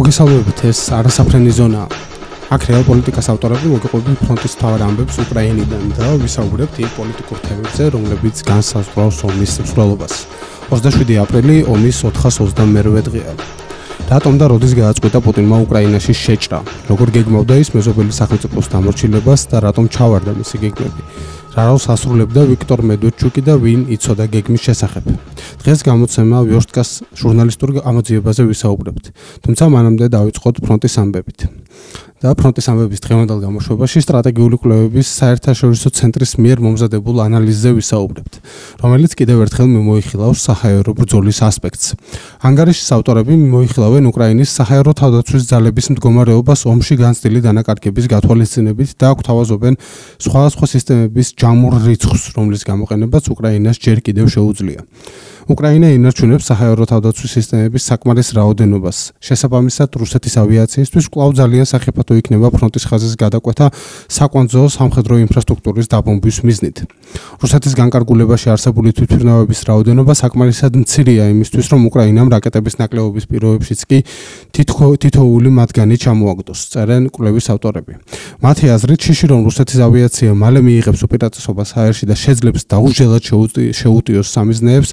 მოგესალმებით, ეს არასაფრენი ზონაა. აქ რეალ პოლიტიკას ავტორები მოგიყვებით ფრონტის მთავარ ამბებს უკრაინიდან და ვისაუბრებთ იმ პოლიტიკურ თემებზე, რომლებიც განსაზღვრავს ომის მსვლელობას. 27 აპრილი ომის 422 დღეა. რატომ და როდის გააწყვეტა პუტინმა უკრაინაში შეჭრა? როგორ გეგმავდა ის მეზობელი სახელმწიფოს დამორჩილებას და რატომ ჩავარდა მისი გეგმები? რა როლს ასრულებდა ვიქტორ მედვედჩუკი და ვინ იცოდა გეგმის შესახებ? დღეს გამოცემა ვიორსტკას ჟურნალისტურ ამოძიებაზე ვისაუბრებთ. თუმცა მანამდე დავიწყოთ ფრონტის ამბებით. და ფრონტის ამბების დღევანდელ გამოშვებაში სტრატეგიული კვლევების საერთაშორისო ცენტრის მიერ მომზადებულ ანალიზზე ვისაუბრებთ, რომელიც კიდევ ერთხელ მიმოიხილავს საჰაერო ბრძოლის ასპექტს. ანგარიშის ავტორები მიმოიხილავენ უკრაინის საჰაერო თავდაცვის ძალების მდგომარეობას ომში განცდილი დანაკარგების გათვალისწინებით და გვთავაზობენ სხვადასხვა სისტემების ჯამურ რიცხვს, რომლის გამოყენებაც უკრაინას ჯერ კიდევ შეუძლია. უკრაინა ინარჩუნებს საჰაერო თავდაცვის სისტემების საკმარის რაოდენობას. შესაბამისად, რუსეთის ავიაციისთვის კვლავ ძალიან სახიფათო იქნება ფრონტის ხაზის გადაკვეთა საკვანძო სამხედრო ინფრასტრუქტურის დაბომბვის მიზნით. რუსეთის განკარგულებაში არსებული თვითმფრინავების რაოდენობა საკმარისად მცირეა იმისთვის, რომ უკრაინამ რაკეტების ნაკლებობის პირობებშიც კი თითოეული მათგანი ჩამოაგდოს, წერენ კვლევის ავტორები. მათი აზრით, შიში რომ რუსეთის ავიაცია მალე მიიღებს უპირატესობას აერში და შეძლებს დაუჯელად შეუტიოს სამიზნეებს,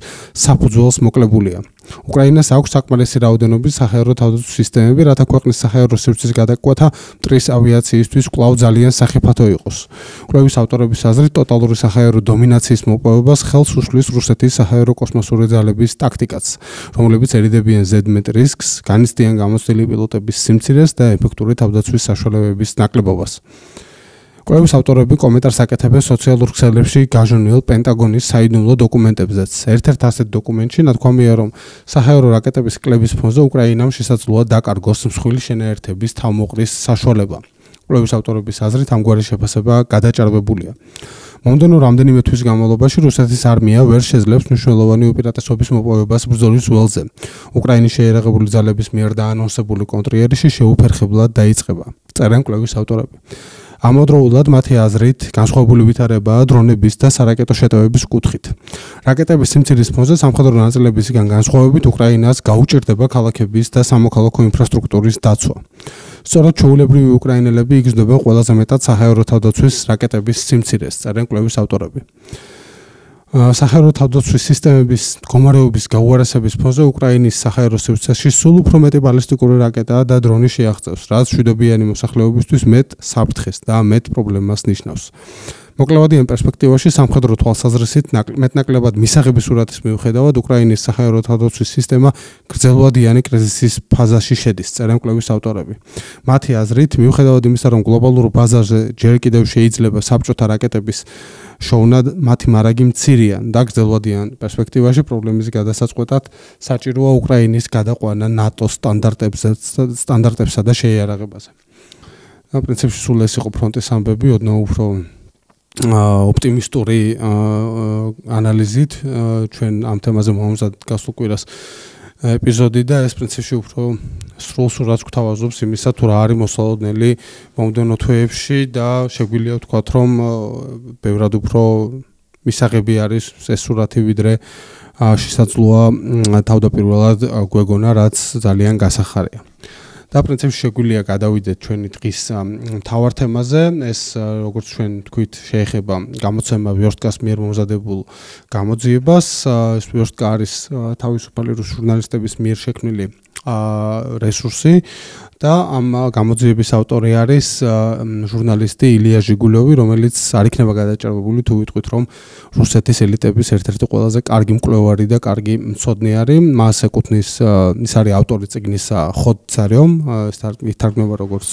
საფუძველს მოკლებულია. უკრაინას აქვს საკმარისი რაოდენობის საჰაერო თავდაცვის სისტემები, რათა ქვეყნის საჰაერო სივრცის გადაკვეთა მტრის ავიაციისთვის კვლავ ძალიან სახიფათო იყოს. კვლევის ავტორების აზრით, ტოტალური საჰაერო დომინაციის მოპოვებას ხელს უშლის რუსეთის საჰაერო კოსმოსური ძალების ტაქტიკაც, რომლებიც ერიდებიან ზედმეტ რისკს, განიცდიან გამოცდილი პილოტების სიმცირეს და ეფექტური თავდაცვის საშუალებების ნაკლებობას. კვლევის ავტორები კომენტარს აკეთებენ სოციალურ ქსელებში გაჟონილ პენტაგონის საიდუმლო დოკუმენტებზეც. ერთ-ერთ ასეთ დოკუმენტში ნათქვამია, რომ საჰაერო რაკეტების კლების ფონზე უკრაინამ შესაძლოა დაკარგოს მსხვილი შენაერთების თავმოყრის საშუალება. კვლევის ავტორების აზრით, ამგვარი შეფასება გადაჭარბებულია. მომდევნო რამდენიმე თვის განმავლობაში რუსეთის არმია ვერ შეძლებს მნიშვნელოვანი უპირატესობის მოპოვებას ბრძოლის ველზე. უკრაინის შეიარაღებული ძალების მიერ დაანონსებული კონტრიერიში შეუფერხებლად დაიწყება, წერენ კვლევის ავტორები. ამავდროულად მათი აზრით განსხვავებული ვითარებაა დრონების და სარაკეტო შეტევების კუთხით. რაკეტების სიმცირის ფონზე სამხედრო ნაწილებისგან განსხვავებით უკრაინას გაუჭირდება ქალაქების და სამოქალაქო ინფრასტრუქტურის დაცვა. სწორედ ჩვეულებრივი უკრაინელები იგრძნობენ ყველაზე მეტად საჰაერო თავდაცვის რაკეტების სიმცირეს, წერენ კვლევის ავტორები. საჰაერო თავდაცვის სისტემების მდგომარეობის გაუარესების ფონზე უკრაინის საჰაერო სივრცეში სულ უფრო მეტი ბალისტიკური რაკეტა და დრონი შეაღწევს, რაც მშვიდობიანი მოსახლეობისთვის მეტ საფრთხეს და მეტ პრობლემას ნიშნავს. მოკლევადიან პერსპექტივაში სამხედრო თვალსაზრისით მეტნაკლებად მისაღები სურათის მიუხედავად უკრაინის საჰაერო თავდაცვის სისტემა გრძელვადიანი კრიზისის ფაზაში შედის, წერენ კვლევის ავტორები. მათი აზრით, მიუხედავად იმისა, რომ გლობალურ ბაზარზე ჯერ კიდევ შეიძლება საბჭოთა რაკეტების შოვნა, მათი მარაგი მცირეა და გრძელვადიან პერსპექტივაში პრობლემის გადასაწყვეტად საჭიროა უკრაინის გადაყვანა ნატოს სტანდარტებსა და შეიარაღებაზე. პრინციპში სულ ეს იყო ფრონტის ამბები, ოდნავ უფრო ოპტიმისტური ანალიზით ჩვენ ამ თემაზე მომზადეთ გასულ კვირას ეპიზოდი და ეს პრინციპში უფრო სრულ სურათს გვთავაზობს იმისა, თუ რა არის მოსალოდნელი მომდევნო თვეებში და შეგვიძლია ვთქვათ, რომ ბევრად უფრო მისაღები არის ეს სურათი, ვიდრე შესაძლოა თავდაპირველად გვეგონა, რაც ძალიან გასახარია. და პრინციპში შეგვიძლია გადავიდეთ ჩვენი დღის მთავარ თემაზე. ეს როგორც ჩვენ თქვით, შეეხება გამოცემა ვიორსტკას მიერ მომზადებულ გამოძიებას. ეს ვიორსტკა არის თავისუფალი რუს ჟურნალისტების მიერ შექმნილი რესურსი და ამ გამოძიების ავტორი არის ჟურნალისტი ილია ჟიგულოვი, რომელიც არ იქნება გადაჭარბებული თუ ვიტყვით, რომ რუსეთის ელიტების ერთ-ერთი ყველაზე კარგი მკვლევარი და კარგი მცოდნე არის. მას ეკუთვნის, ის არის ავტორი წიგნის ხოდ царем, ითარგმნება როგორც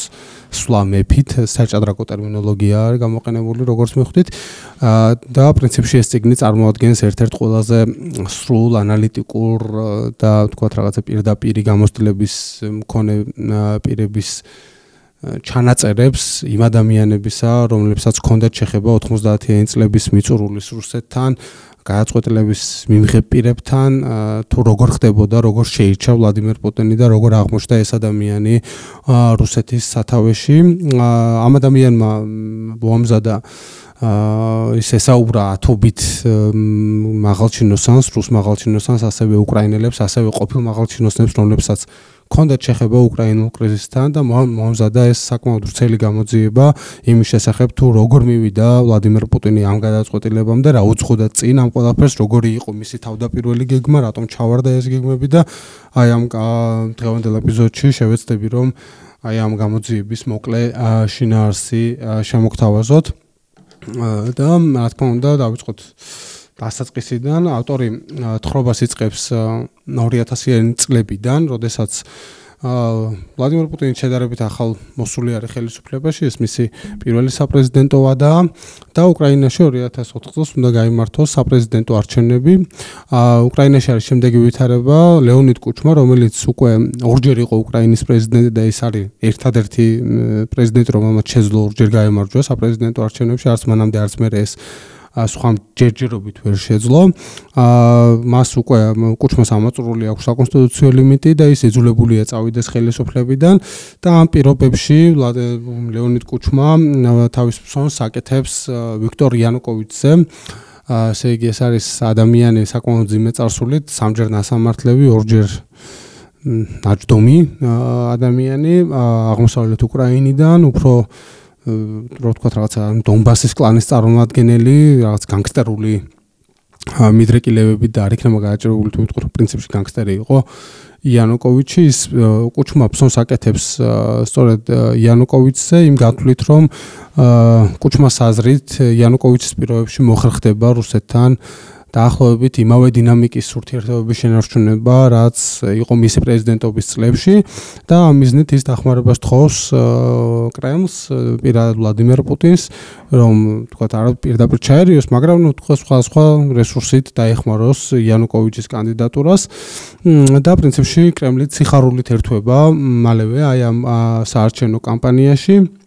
სვლა მეფით, საჭადრაკო ტერმინოლოგია არის გამოყენებული, როგორც მიხვდით. და პრინციპში ეს წიგნი წარმოადგენს ერთ-ერთ ყველაზე სრულ ანალიტიკურ და ვთქვათ რაღაცა პირდაპირი გამოცდილების მქონე პირების ჩანაწერებს იმ ადამიანებისა, რომლებსაც ჰქონდათ შეხება 90-იანი წლების მიწურულის რუსეთთან, გადაწყვეტილების მიმღებ პირებთან, თუ როგორ ხდებოდა, როგორ შეირჩა ვლადიმერ პუტინი და როგორ აღმოჩნდა ეს ადამიანი რუსეთის სათავეში. ამ ადამიანმა მოამზადა ის ესაუბრა ათობით მაღალჩინოსანს, რუს მაღალჩინოსანს, ასევე უკრაინელებს, ასევე ყოფილ მაღალჩინოსნებს, რომლებსაც ჰქონდათ შეხება უკრაინულ კრიზისთან და მომზადა ეს საკმაოდ ვრცელი გამოძიება იმის შესახებ თუ როგორ მივიდა ვლადიმერ პუტინი ამ გადაწყვეტილებამდე, რა უძღოდა წინ ამ ყველაფერს, როგორი იყო მისი თავდაპირველი გეგმა, რატომ ჩავარდა ეს გეგმები და აი ამ დღევანდელ ეპიზოდში შევეცდები რომ აი ამ გამოძიების მოკლე შინაარსი შემოგთავაზოთ და რა თქმა უნდა დავიწყოთ დასაწყისიდან. ავტორი თხრობას იწყებს 2000-იანი წლებიდან, როდესაც ვლადიმერ პუტინი შედარებით ახალ მოსული არის ხელისუფლებაში, ეს მისი პირველი საპრეზიდენტო ვადაა და უკრაინაში 2004 წელს უნდა გაიმართოს საპრეზიდენტო არჩევნები. უკრაინაში არის შემდეგი ვითარება: ლეონიდ კუჩმა, რომელიც უკვე ორჯერ იყო უკრაინის პრეზიდენტი და ის არის ერთადერთი პრეზიდენტი, რომელმაც შეძლო ორჯერ გაემარჯვა საპრეზიდენტო არჩევნებში, არც მანამდე არც მერე ეს სხვა ჯერჯერობით ვერ შეძლო. მას უკვე კუჩმას ამოწურული აქვს საკონსტიტუციო ლიმიტი და ის იძულებულია წავიდეს ხელისუფლებიდან და ამ პირობებში ლეონიდ კუჩმა თავის ფსონს აკეთებს ვიქტორ იანუკოვიჩზე. ესე იგი ეს არის ადამიანი საკმაოდ ძიმე წარსულით, სამჯერ ნასამართლები, ორჯერ ნაჯდომი ადამიანი აღმოსავლეთ უკრაინიდან, უფრო რო ვთქვათ რაღაცა დონბასის კლანის წარმომადგენელი, რაღაც განგსტერული მიდრეკილებებით და არ იქნება გააჭრებული თუ ვიტყვით პრინციპში განგსტერი იყო იანუკოვიჩი. ის კუჩმა ფსონს აკეთებს სწორედ იანუკოვიჩზე იმ გათვლით რომ კუჩმას აზრით იანუკოვიჩის პირობებში მოხერხდება რუსეთთან დაახლოებით იმავე დინამიკის ურთიერთობების შენარჩუნება, რაც იყო მისი პრეზიდენტობის წლებში და ამ მიზნით ის დახმარებას თხოვს კრემლს, პირადად ვლადიმერ პუტინს, რომ თქვათ არ პირდაპირ ჩაერიოს, მაგრამ სხვა რესურსით დაეხმაროს იანუკოვიჩის კანდიდატურას და პრინციპში კრემლი სიხარულით ერთვება მალევე აი ამ საარჩევნო კამპანიაში.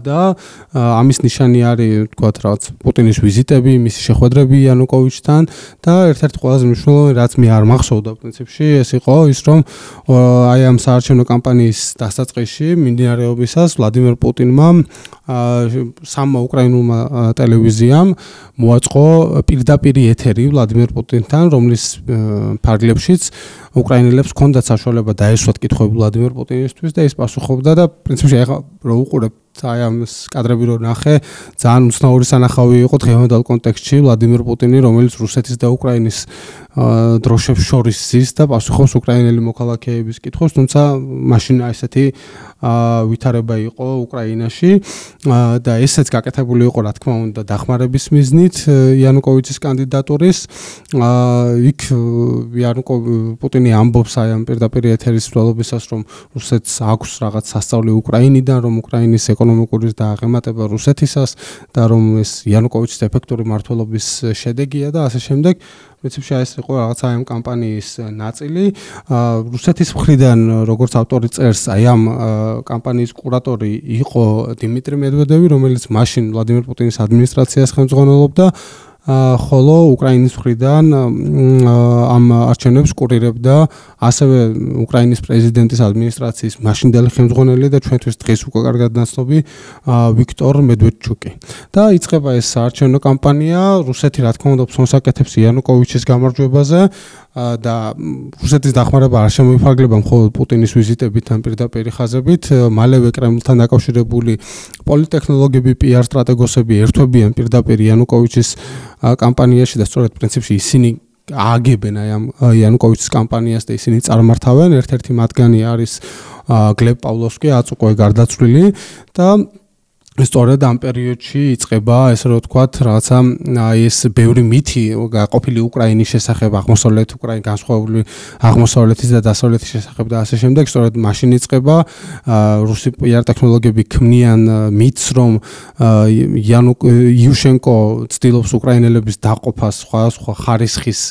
და ამის ნიშანი არის თქვათ რაღაც პუტინის ვიზიტები, მისი შეხვედრები იანუკოვიჩთან და ერთ-ერთი ყველაზე მნიშვნელოვანი რაც მე არ მახსოვდა პრინციპში ეს იყო ის რომ აი ამ საარჩევნო კამპანიის დასაწყისში მიმდინარეობისას ვლადიმერ პუტინმა სამმა უკრაინულმა ტელევიზიამ მოაწყო პირდაპირი ეთერი ვლადიმერ პუტინთან, რომლის ფარგლებშიც უკრაინელებს ჰქონდათ საშუალება დაესვათ კითხვები ვლადიმერ პუტინისთვის და ის პასუხობდა და პრინციპში ახლა რო უყურებთ აი ამ კადრები რო ნახე, ძალიან უცნაური სანახავი იყო დღევანდელ კონტექსტში ვლადიმერ პუტინი, რომელიც რუსეთის და უკრაინის დროშებს შორის ზის და პასუხობს უკრაინელი მოქალაქეების კითხვებს, თუმცა მაშინ ესეთი ვითარება იყო უკრაინაში და ესეც გაკეთებული იყო, რა თქმა უნდა, დახმარების მიზნით იანუკოვიჩის კანდიდატურის. იქ პუტინი ამბობს აი ამ პირდაპირ ეთერის მსვლელობისას, რომ რუსეთს აქვს რაღაც სასწავლი უკრაინიდან, რომ უკრაინის ეკონომიკური დააღემატება რუსეთისას და რომ ეს იანუკოვიჩის ეფექტური მმართველობის შედეგია და ასე შემდეგ. პრინციპში ეს იყო რაღაცა ამ კამპანიის ნაწილი. რუსეთის მხრიდან, როგორც ავტორი წერს, აი ამ კამპანიის კურატორი იყო დიმიტრი მედვედევი, რომელიც მაშინ ვლადიმერ პუტინის ადმინისტრაციას ხელმძღვანელობდა, ხოლო უკრაინის მხრიდან ამ არჩევნებს კურირებდა ასევე უკრაინის პრეზიდენტის ადმინისტრაციის მაშინდელი ხელმძღვანელი და ჩვენთვის დღეს უკვე კარგად ნაცნობი ვიქტორ მედვედჩუკი. და იწყება ეს საარჩევნო კამპანია, რუსეთი რა თქმა უნდა ფსონს აკეთებს იანუკოვიჩის გამარჯვებაზე და რუსეთის დახმარება არ შემოიფარგლება მხოლოდ პუტინის ვიზიტებით ან პირდაპირ ხაზებით, მალევე კრემლთან დაკავშირებული პოლიტექნოლოგები, PR სტრატეგოსები ერთვებიან პირდაპირ იანუკოვიჩის კამპანიაში და სწორედ პრინციპში ისინი ააგებენ აი ამ იანუკოვიჩის კამპანიას და ისინი წარმართავენ. ერთ-ერთი მათგანი არის გლებ პავლოვსკი, აწუყვე გარდაცვლილი და სწორედ ამ პერიოდში იწყება ესე რომ ვთქვათ რაღაცა ეს ბევრი მითი გაყოფილი უკრაინის შესახებ, აღმოსავლეთ უკრაინის განსხვავებული აღმოსავლეთის და დასავლეთის შესახებ და ასე შემდეგ. სწორედ მაშინ იწყება რუსი PR ტექნოლოგიები ქმნიან მითს, რომ იუშენკო ცდილობს უკრაინელების დაყოფას სხვა ხარისხის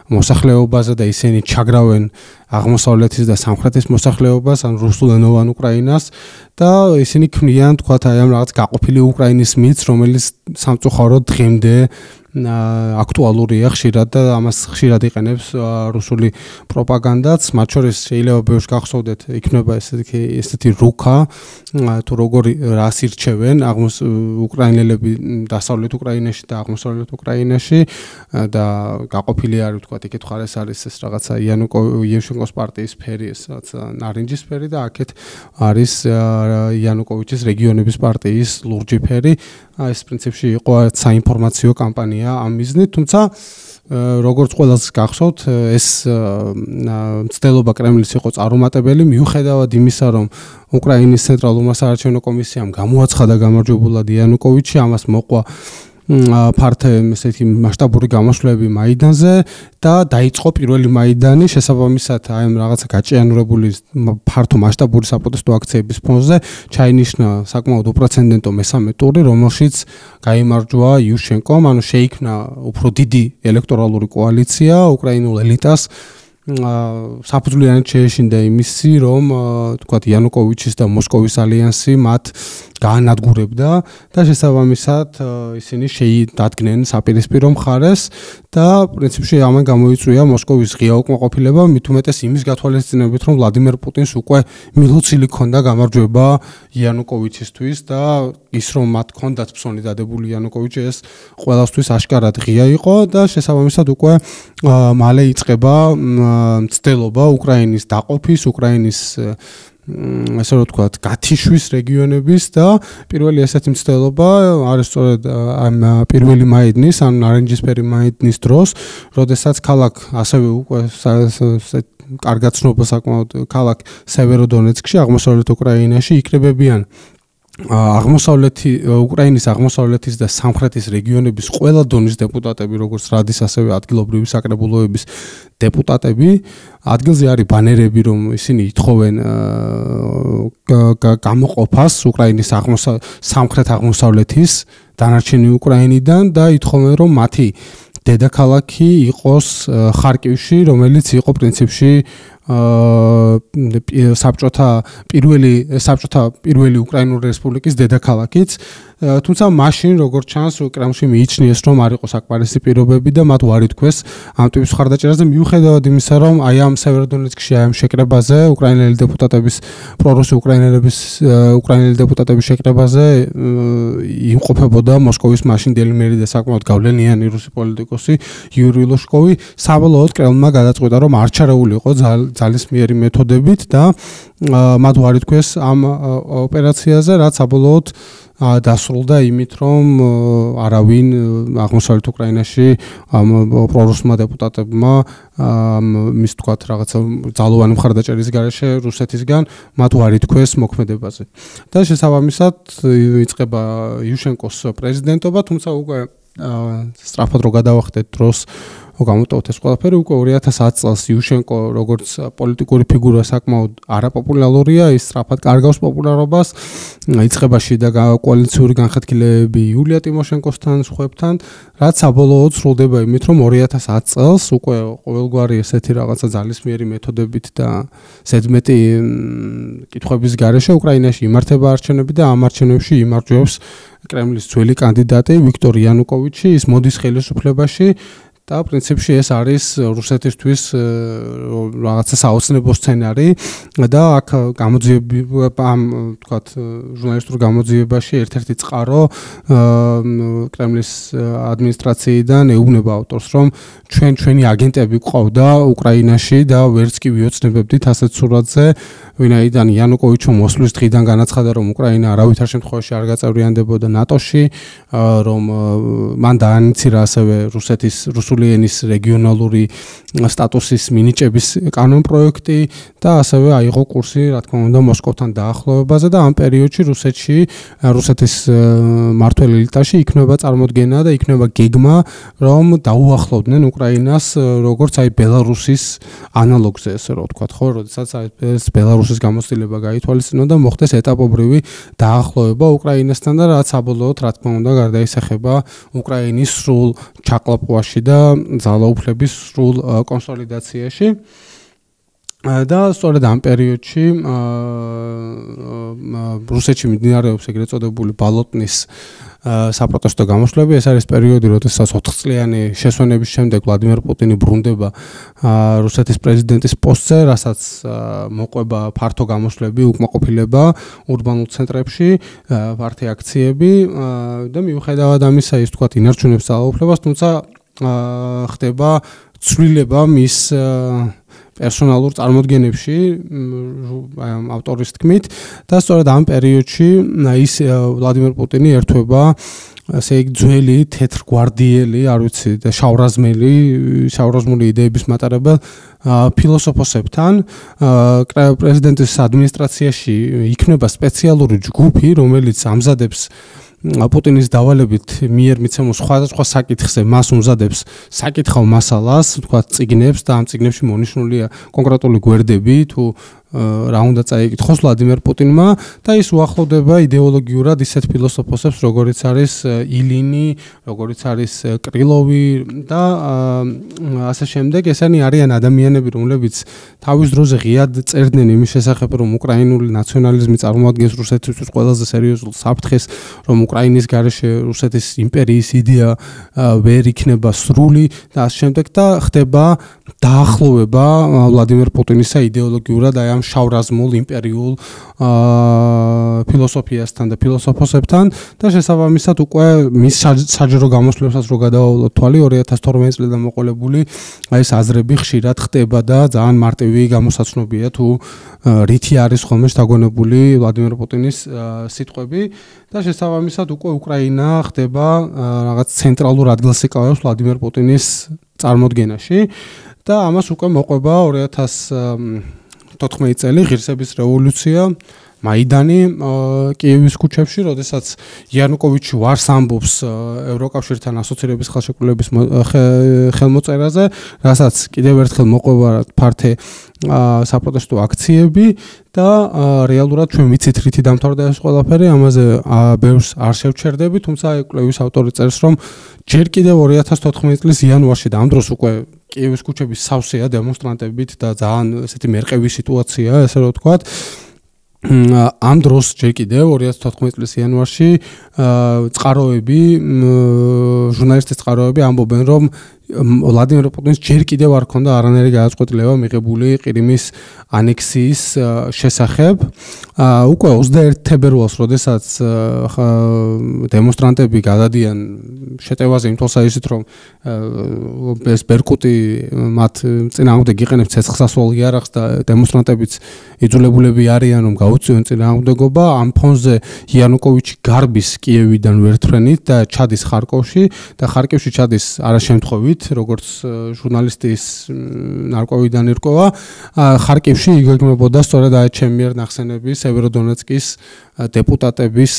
მოსახლეობაზე და ისინი ჩაგრავენ აღმოსავლეთის და სამხრეთის მოსახლეობას, ან რუსულენოვან უკრაინას და ისინი ქმნიან, თქვათ, აი ამ რაღაც გაყოფილი უკრაინის მითს, რომელიც სამწუხაროდ დღემდე აქტუალურია ხშირად და ამას ხშირად იყენებს რუსული პროპაგანდაც, მათ შორის შეიძლება ბევრს გახსოვდეთ, იქნება ესეთი რუკა, თუ როგორი რას ირჩევენ უკრაინელები დასავლეთ უკრაინაში და აღმოსავლეთ უკრაინაში და გაყოფილი არის თქვა იქეთ ხარეს არის ეს რაღაცა იუშენკოს პარტიის ფერი, ეს რაღაცა ნარინჯის ფერი და აქეთ არის იანუკოვიჩის რეგიონების პარტიის ლურჯი ფერი. ეს პრინციპში იყო საინფორმაციო კამპანია ამ მიზნით, თუმცა როგორც ყველას გახსოვთ, ეს მცდელობა კრემლის იყო წარუმატებელი, მიუხედავად იმისა, რომ უკრაინის ცენტრალურმა საარჩევნო კომისიამ გამოაცხადა გამარჯვებულად იანუკოვიჩი, ამას მოყვა ფართე ესეთი მასშტაბური გამოსვლები მაიდანზე და დაიწყო პირველი მაიდანი შესაბამისად აი ამ რაღაცა გაჭიანურებული ფართო მასშტაბური საპროტესტო აქციების ფონზე ჩაინიშნა საკმაოდ უპრეცედენტო მესამე ტური, რომელშიც გაიმარჯვა იუშენკომ, ანუ შეიქმნა უფრო დიდი ელექტორალური კოალიცია უკრაინულ ელიტას საფუძვლიანად შეეშინდა იმისი, რომ თქვათ იანუკოვიჩის და მოსკოვის ალიანსი მათ გაანადგურებდა და შესაბამისად ისინი შეიდადგნენ საპირისპირო მხარეს და პრინციპში ამან გამოიწვია მოსკოვის ღია უკმაყოფილება, მით უმეტეს იმის გათვალისწინებით, რომ ვლადიმერ პუტინს უკვე მილოცილი ჰქონდა გამარჯვება იანუკოვიჩისთვის და ის რომ მათ ჰქონდათ ფსონი დადებული იანუკოვიჩი, ეს ყველასთვის აშკარად ღია იყო და შესაბამისად უკვე მალე იწყება მცდელობა უკრაინის დაყოფის, უკრაინის ასე რომ ვთქვათ, გათიშვის რეგიონების და პირველი ესეთი მცდელობა არის სწორედ ამ პირველი მაიდნის, ან ნარინჯისფერი მაიდნის დროს, როდესაც ქალაქ ასევე უკვე კარგად ცნობა საკმაოდ ქალაქ სევეროდონეცკში, აღმოსავლეთ უკრაინაში იქნებებიან უკრაინის აღმოსავლეთის და სამხრეთის რეგიონების ყველა დონის დეპუტატები, როგორც რადის, ასევე ადგილობრივი საკრებულოების დეპუტატები. ადგილზე არის ბანერები, რომ ისინი ითხოვენ გამოყოფას უკრაინის სამხრეთ აღმოსავლეთის დანარჩენი უკრაინიდან და ითხოვენ, რომ მათი დედაქალაქი იყოს ხარკივში, რომელიც იყო პრინციპში საბჭოთა პირველი უკრაინული რესპუბლიკის დედაქალაქიც, თუმცა მაშინ როგორც ჩანს კრემლში მიიჩნიეს, რომ არ იყო საკმარისი პირობები და მათ უარი თქვეს ამ ტიპის მხარდაჭერაზე, მიუხედავად იმისა, რომ აი ამ სევეროდონეცკში აი ამ შეკრებაზე უკრაინელი დეპუტატების პრორუსი უკრაინელი დეპუტატების შეკრებაზე იმყოფებოდა მოსკოვის მაშინდელი მერი და საკმაოდ გავლენიანი რუსი პოლიტიკოსი იური ლოშკოვი. საბოლოოდ კრემლმა გადაწყვიტა, რომ არ ჩარეულიყო ძალისმიერი მეთოდებით და მათ უარი თქვეს ამ ოპერაციაზე, რაც საბოლოოდ დასრულდა იმით, რომ არავინ აღმოსავლეთ უკრაინაში პრორუსმა დეპუტატებმა მის თქვათ რაღაცა ძალოვანი მხარდაჭერის გარეშე რუსეთისგან მათ უარი თქვეს მოქმედებაზე. და შესაბამისად იწყება იუშენკოს პრეზიდენტობა, თუმცა უკვე სწრაფად რო გადავახდეთ დროს გამოტოვეთ ეს ყველაფერი, უკვე 2010 წელს იუშენკო როგორც პოლიტიკური ფიგურა საკმაოდ არაპოპულარულია, ის სწრაფად კარგავს პოპულარობას, იწყება შიდა კოალიციური განხეთქილებები იულია ტიმოშენკოსთან, სხვებთან, რაც საბოლოოდ სრულდება იმით, რომ 2010 წელს უკვე ყოველგვარი ესეთი რაღაცა ძალისმიერი მეთოდებით და ზედმეტი კითხვების გარეშე უკრაინაში იმართება არჩევნები და ამ არჩევნებში იმარჯვებს კრემლის ძველი კანდიდატი ვიქტორ იანუკოვიჩი, ის მოდის ხელისუფლებაში და პრინციპში ეს არის რუსეთისთვის რაღაცა საოცნებო სცენარი და აქ გამოძიება ამ თქვათ ჟურნალისტურ გამოძიებაში ერთ-ერთი წყარო კრემლის ადმინისტრაციიდან ეუბნება ავტორს, რომ ჩვენი აგენტები ყავდა უკრაინაში და ვერც კი ვიოცნებებდით ასეთ სურათზე, ვინაიდან იანუკოვიჩო მოსვლის დღიდან განაცხადა, რომ უკრაინა არავითარ შემთხვევაში არ გაწევრიანდებოდა ნატოში, რომ მან დაანიცირა ასევე რუსული ენის რეგიონალური სტატუსის მინიჭების კანონპროექტი და ასევე აიღო კურსი, რა თქმა უნდა, მოსკოვთან დაახლოებაზე და ამ პერიოდში რუსეთის მმართველ ელიტაში იქნება წარმოდგენა და იქნება გეგმა, რომ დაუახლოვდნენ უკრაინას როგორც აი ბელარუსის ანალოგზე, ესე რომ ვთქვათ, ხო, როდესაც ეს ბელარუსის გამოცდილება გაითვალისწინებდა და მოხდეს ეტაპობრივი დაახლოება უკრაინასთან და რაც საბოლოოდ, რა თქმა უნდა, გარდაისახება უკრაინის სრულ ჩაკლაპვაში და ძალაუფლების სრულ კონსოლიდაციაში. და სწორედ ამ პერიოდში რუსეთში მიმდინარეობს ეგრეთ წოდებული ბალოტნის საპროტესტო გამოსვლები. ეს არის პერიოდი, როდესაც 4 წლიანი შესვენების შემდეგ ვლადიმერ პუტინი ბრუნდება რუსეთის პრეზიდენტის პოსტზე, რასაც მოყვება ფართო გამოსვლები, უკმაყოფილება ურბანულ ცენტრებში, ფართო აქციები და მიუხედავად ამისა, ის თქვათ ინარჩუნებს ძალაუფლებას, თუმცა ხდება ცვლილება მის პერსონალურ წარმოდგენებში ავტორის თქმით და სწორედ ამ პერიოდში ის ვლადიმერ პუტინი ერთვება ასე იგი ძველი თეთრგვარდიელი, არ ვიცი, და შავრაზმული იდეების მატარებელ ფილოსოფოსებთან. პრეზიდენტის ადმინისტრაციაში იქნება სპეციალური ჯგუფი, რომელიც ამზადებს პუტინის დავალებით მიერ მიცემულ სხვადასხვა საკითხზე მას უმზადებს საკითხავ მასალას, თქვათ წიგნებს და ამ წიგნებში მონიშნულია კონკრეტული გვერდები თუ რა უნდა წაიკითხოს ვლადიმერ პუტინმა და ის უახლოვდება იდეოლოგიურად ისეთ ფილოსოფოსებს, როგორიც არის ილინი, როგორიც არის კრილოვი და ასე შემდეგ. ესენი არიან ადამიანები, რომლებიც თავის დროზე ღიად წერდნენ იმის შესახებ, რომ უკრაინული ნაციონალიზმი წარმოადგენს რუსეთისთვის ყველაზე სერიოზულ საფრთხეს, რომ უკრაინის გარეშე რუსეთის იმპერიის იდეა ვერ იქნება სრული და ასე შემდეგ და ხდება დაახლოვება ვლადიმერ პუტინისა იდეოლოგიურად აი ამ შავრაზმულ იმპერიულ ფილოსოფიასთან და ფილოსოფოსებთან და შესაბამისად უკვე მის საჯარო გამოსვლებსაც რო გადავავლოთ თვალი 2012 წლიდან მოყოლებული აი ეს აზრები ხშირად ხდება და ძალიან მარტივი გამოსაცნობია თუ რითი არის ხოლმე შთაგონებული ვლადიმერ პუტინის სიტყვები და შესაბამისად უკვე უკრაინა ხდება რაღაც ცენტრალურ ადგილს იკავებს ვლადიმერ პუტინის წარმოდგენაში და ამას უკვე მოყვება 2014 წელი ღირსების რევოლუცია, მაიდანი კიევის ქუჩებში, როდესაც იანუკოვიჩი ვარს ამბობს ევროკავშირთან ასოცირების ხელშეკრულების ხელმოწერაზე, რასაც კიდევ ერთხელ მოყვება ფართე საპროტესტო აქციები და რეალურად ჩვენ ვიცით რითი დამთავრდა ეს ყველაფერი, ამაზე ბევრს არ შევჩერდები, თუმცა კვლევის ავტორი წერს, რომ ჯერ კიდევ 2014 წლის იანვარში და ამ დროს უკვე კიევის ქუჩების სავსეა დემონსტრანტებით და ძალიან ესეთი მერყევი სიტუაციაა, ესე რომ ვთქვათ. ამ დროს ჯერ კიდევ 2014 წლის იანვარში წყაროები, ჟურნალისტის წყაროები ამბობენ, რომ ვლადიმერ პუტინს ჯერ კიდევ არ ჰქონდა არანაირი გადაწყვეტილება მიღებული ყირიმის ანექსიის შესახებ. უკვე 21 თებერვალს, როდესაც დემონსტრანტები გადადიან შეტევაზე იმ თვალსაზრისით, რომ ეს ბერკუტი მათ წინააღმდეგ იყენებს ცეცხლსასროლ იარაღს და დემონსტრანტებიც იძულებულები არიან, რომ გაუწიონ წინააღმდეგობა. ამ ფონზე იანუკოვიჩი გარბის კიევიდან ვერტფრენით და ჩადის ხარკოვში და ხარკოვში ჩადის არაშემთხვევით, როგორც ჟურნალისტის ნარკვევიდან ირკვევა, ხარკოვში იგეგმებოდა სწორედ აი ჩემი მიერ ნახსენები სევეროდონეცკის დეპუტატების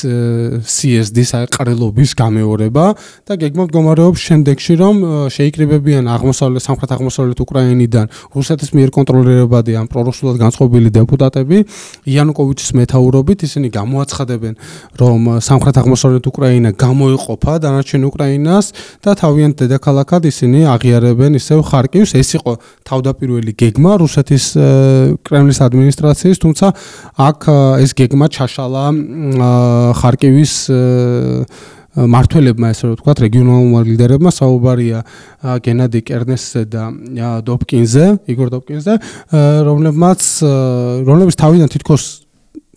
CSD-ის ყრილობის გამეორება და გეგმა მდგომარეობს შემდეგში, რომ შეიკრიბებიან სამხრეთ-აღმოსავლეთ უკრაინიდან რუსეთის მიერ კონტროლირებადი ან პრორუსულად განწყობილი დეპუტატები იანუკოვიჩის მეთაურობით, ისინი გამოაცხადებენ, რომ სამხრეთ-აღმოსავლეთ უკრაინა გამოიყოფა დანარჩენ უკრაინას და თავიანთ დედაქალაქად ისინი აღიარებენ ისევ ხარკივს. ეს იყო თავდაპირველი გეგმა რუსეთის კრემლის ადმინისტრაციის, თუმცა აქ ეს გეგმა ჩაშალა ხარკივის მართველებმა, ესე რომ ვთქვათ, რეგიონალურმა ლიდერებმა, საუბარია გენადი კერნესზე და დოპკინზე, იგორ დოპკინზე, რომლებიც თავიდან თითქოს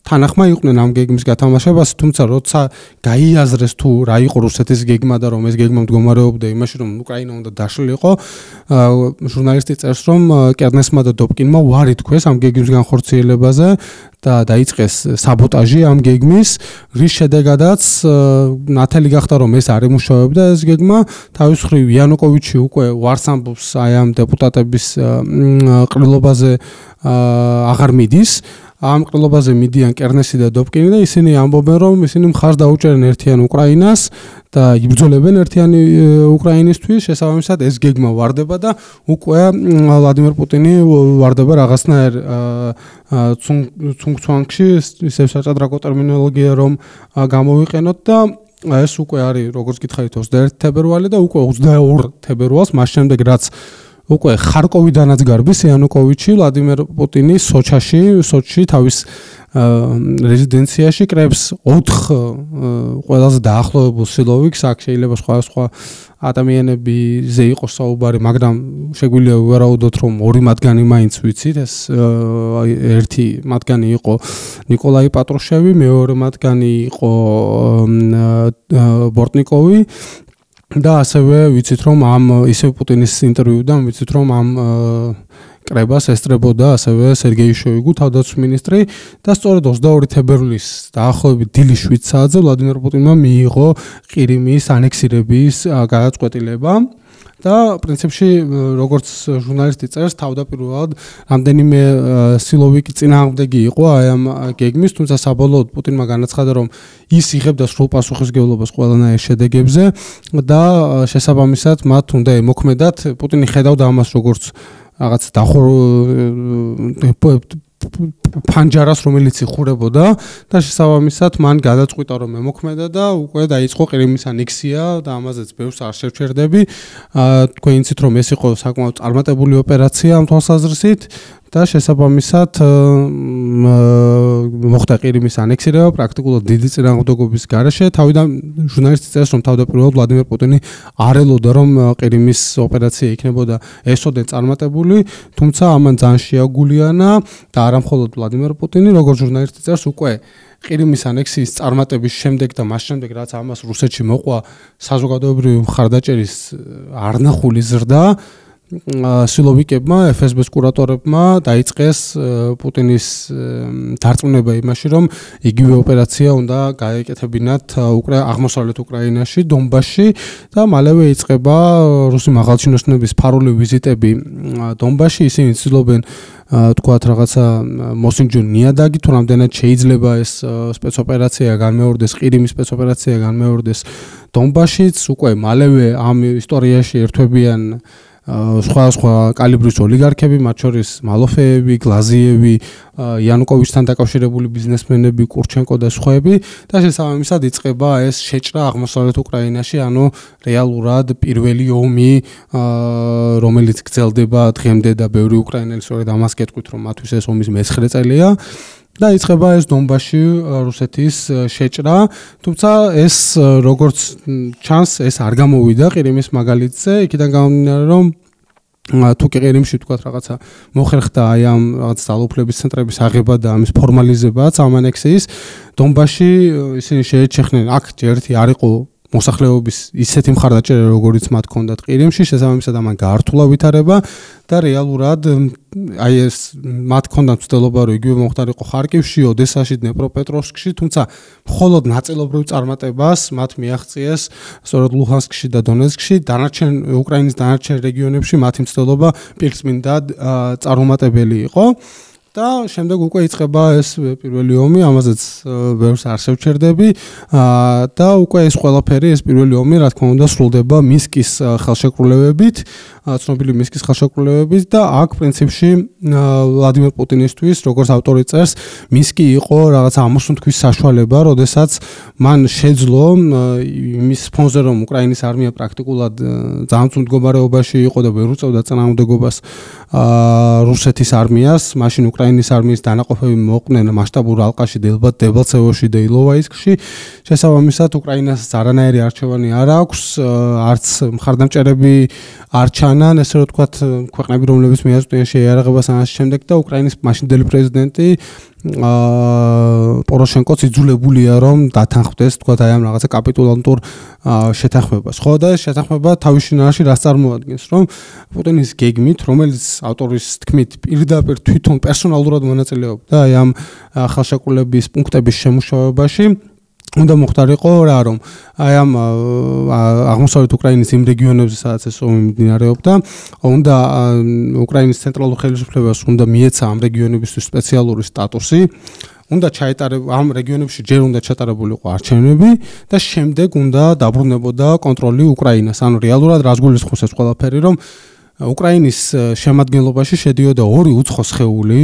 თანახმა იყვნენ ამ გეგმის გათამაშებას, თუმცა როცა გაიაზრეს თუ რა იყო რუსეთის გეგმა და რომ ეს გეგმა მდგომარეობდა იმაში, რომ უკრაინა უნდა დაშლილიყო, ჟურნალისტი წერს, რომ კერნესმა და დოპკინმა უარი თქვეს ამ გეგმის განხორციელებაზე და დაიწყეს საბოტაჟი ამ გეგმის, რის შედეგადაც ნათელი გახდა, რომ ეს არ ემუშავებდა ეს გეგმა. თავის მხრივ იანუკოვიჩი უკვე უარს ამბობს აი ამ დეპუტატების ყრილობაზე აღარ მიდის. ამ ყრილობაზე მიდიან კერნესი და დოპკინი და ისინი ამბობენ, რომ ისინი მხარს დაუჭერენ ერთიან უკრაინას და იბრძოლებენ ერთიანი უკრაინისთვის. შესაბამისად ეს გეგმა ვარდება და უკვე ვლადიმერ პუტინი ვარდება რაღაცნაირ ცუნგ-ცვანგში, ისევ საჭადრაკო ტერმინოლოგია რომ გამოვიყენოთ და ეს უკვე არის, როგორც გითხარით, 21 თებერვალი და უკვე 22 თებერვალს, მას შემდეგ რაც უკვე ხარკოვიდანაც გარბის იანუკოვიჩი ვლადიმერ პუტინის სოჩში თავის რეზიდენციაში კრებს 4 ყველაზე დაახლოებულ სილოვიკს. აქ შეიძლება სხვა ადამიანებზე იყოს საუბარი, მაგრამ შეგვიძლია ვარაუდოთ, რომ 2 მათგანი მაინც ვიცით. ეს ერთი მათგანი იყო ნიკოლაი პატრუშევი, მეორე მათგანი იყო ბორტნიკოვი. და ასევე ვიცით, რომ ამ ისევ პუტინის ინტერვიუდან ვიცით, რომ ამ კრებას ესწრებოდა ასევე სერგეი შოიგუ, თავდაცვის მინისტრი და სწორედ 22 თებერვლის დაახლოებით დილის 7 საათზე ვლადიმერ პუტინმა მიიღო ყირიმის ანექსირების გადაწყვეტილება. და პრინციპში როგორც ჟურნალისტი წერს, თავდაპირველად რამდენიმე სილოვიკი წინააღმდეგი იყო აი ამ გეგმის, თუმცა საბოლოოდ პუტინმა განაცხადა, რომ ის იღებდა სრულ პასუხისმგებლობას ყველანაირ შედეგებზე და შესაბამისად მათ უნდა ემოქმედათ. პუტინი ხედავდა ამას როგორც რაღაც ფანჯარას, რომელიც იხურებოდა და შესაბამისად მან გადაწყვიტა, რომ ემოქმედა და უკვე დაიწყო ყირიმის ანექსია და ამაზეც ბევრს არ შევჩერდები. თქვენ იცით, რომ ეს იყო საკმაოდ წარმატებული ოპერაცია ამ თვალსაზრისით და შესაბამისად მოხდა ყირიმის ანექსირება პრაქტიკულად დიდი წინააღმდეგობის გარეშე. თავიდან ჟურნალისტი წერს, რომ თავდაპირველად ვლადიმერ პუტინი არ ელოდა, რომ ყირიმის ოპერაცია იქნებოდა ესოდენ წარმატებული, თუმცა ამან ძალიან შეაგულიანა და არა მხოლოდ ვლადიმერ პუტინი, როგორც ჟურნალისტი წერს, უკვე ყირიმის ანექსიის წარმატების შემდეგ და მას შემდეგ, რაც ამას რუსეთში მოყვა საზოგადოებრივი მხარდაჭერის არნახული ზრდა, სილოვიკებმა, FSB-ს კურატორებმა დაიწყეს პუტინის დარწმუნება იმაში, რომ იგივე ოპერაცია უნდა გაეკეთებინათ აღმოსავლეთ უკრაინაში, დონბასში და მალევე იწყება რუსი მაღალჩინოსნების ფარული ვიზიტები დონბასში. ისინი ცდილობენ თქვათ რაღაცა მოსინჯონ ნიადაგი, თუ რამდენად შეიძლება ეს სპეცოპერაცია განმეორდეს, ყირიმის სპეცოპერაცია განმეორდეს დონბასშიც. უკვე მალევე ამ ისტორიაში ერთვებიან სხვა კალიბრის ოლიგარქები, მათ შორის მალოფეევი, გლაზიევი, იანუკოვიჩთან დაკავშირებული ბიზნესმენები, კურჩენკო და სხვაები და შესაბამისად იწყება ეს შეჭრა აღმოსავლეთ უკრაინაში, ანუ რეალურად პირველი ომი, რომელიც გრძელდება დღემდე და ბევრი უკრაინელი სწორედ ამას გეტყვით, რომ მათთვის ეს ომის მე-9 წელია. და იწყება ეს დონბასში რუსეთის შეჭრა, თუმცა ეს როგორც ჩანს, ეს არ გამოვიდა ყირიმის მაგალითზე, იქიდან გამომდინარე, რომ თუ კი ყირიმში თქვათ რაღაცა მოხერხდა აი ამ რაღაც ძალაუფლების ცენტრების აღება და ამის ფორმალიზებაც ამ ანექსიის, დონბასში ისინი შეეჩეხნენ, აქ ერთი არ იყო მოსახლეობის ისეთი მხარდაჭერა, როგორიც მათ ჰქონდათ ყირიმში, შესაბამისად ამან გაართულა ვითარება და რეალურად აი ეს მათ ჰქონდათ მცდელობა, რომ იგივე მომხდარიყო ხარკივში, ოდესაში, დნეპროპეტროვსკში, თუმცა მხოლოდ ნაწილობრივ წარმატებას მათ მიაღწიეს სწორედ ლუჰანსკში და დონეცკში, უკრაინის დანარჩენ რეგიონებში მათი მცდელობა პირწმინდად წარუმატებელი იყო. და შემდეგ უკვე იწყება ეს პირველი ომი, ამაზეც ბევრს არ შევჩერდები და უკვე ეს ყველაფერი, ეს პირველი ომი, რა თქმა უნდა, სრულდება მინსკის ხელშეკრულებებით, ცნობილი მინსკის ხელშეკრულებებით და აქ პრინციპში ვლადიმერ პუტინისთვის, როგორც ავტორი წერს, მინსკი იყო რაღაც ამოსუნთქვის საშუალება, როდესაც მან შეძლო იმის ფონზე, რომ უკრაინის არმია პრაქტიკულად ძალიან წვრილ მდგომარეობაში იყო და ვერ უწევდა წინააღმდეგობას რუსეთის არმიას, მაშინ უკრაინის არმიის დანაყოფები მოყვნენ მასშტაბურ ალყაში, დებალცევოში და ილოვაისკში. შესაბამისად, უკრაინას არანაირი არჩევანი არ აქვს, არც მხარდამჭერები არ ჩანან, ესე რომ ვთქვათ, ქვეყნები, რომლებიც მიაწვდიან შეიარაღებას ამას შემდეგ და უკრაინის მაშინდელი პრეზიდენტი პოროშენკოც იძულებულია, რომ დათანხმდეს, თქვათ, აი ამ რაღაცა კაპიტულანტურ შეთანხმებას. ხო და ეს შეთანხმება თავის შინაარსში რას წარმოადგენს, რომ პუტინის გეგმით, რომელიც ავტორის თქმით პირდაპირ თვითონ პერსონალურად მონაწილეობდა აი ამ ხელშეკრულების პუნქტების შემუშავებაში, უნდა მოხდარიყო რა, რომ აი ამ აღმოსავლეთ უკრაინის იმ რეგიონებზე, სადაც ეს ომი მიმდინარეობდა, უნდა უკრაინის ცენტრალურ ხელისუფლებას უნდა მიეცა ამ რეგიონებისთვის სპეციალური სტატუსი, უნდა ჩაეტარებინა ამ რეგიონებში ჯერ უნდა ჩატარებულიყო არჩევნები და შემდეგ უნდა დაბრუნებოდა კონტროლი უკრაინას. ანუ რეალურად რას გულისხმობს ეს ყველაფერი, რომ უკრაინის შემადგენლობაში შედიოდა 2 უცხო სხეული,